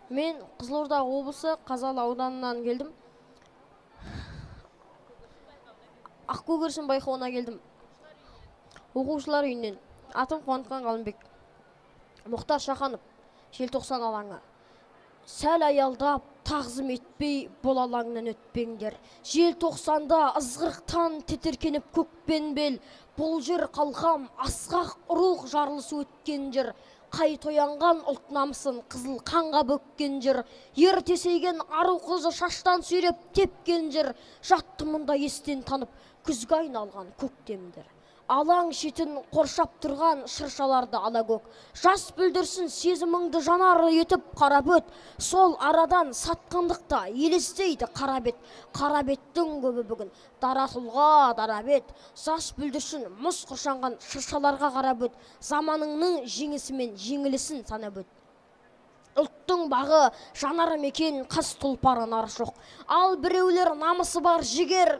Мен Қызылорда облысы Қазалы ауданынан келдім. Ақкөгершін байқауына келдім. Оқушылар үйінен. Атым Қуантқан Қалымбек. Мұхтар Шаханов, желтоқсан алаңы. Сәл аялдап, тағзым етпей, бұл алаңнан өтпеңдер. Желтоқсанда ызғырықтан тітіркеніп көкпен бел. Бұл жер қалқам, асқақ рух жарылысы өткен жер. Қай тоянған ұлт намысын қызыл қанға бөккен жер. Ер тесейген ару қызы шаштан сүйреп тепкен жер. Жатты мұнда естен танып, күзге айналған көктемдер. Алаң шетін қоршап тұрған шыршаларды ала көк. Жас бүлдірсін сезіміңді жанары етіп қарап өт. Сол арадан сатқындықта елестейді қарабет. Қарабеттің көбі бүгін даратылға дарабет. Жас бүлдірсін мұз құршанған шыршаларға қарап өт. Заманыңның жеңісімен жеңілісін санап өт. Ұлттың бағы жанары мекен қас тұлпары нар жоқ. Ал біреулер намысы бар жігер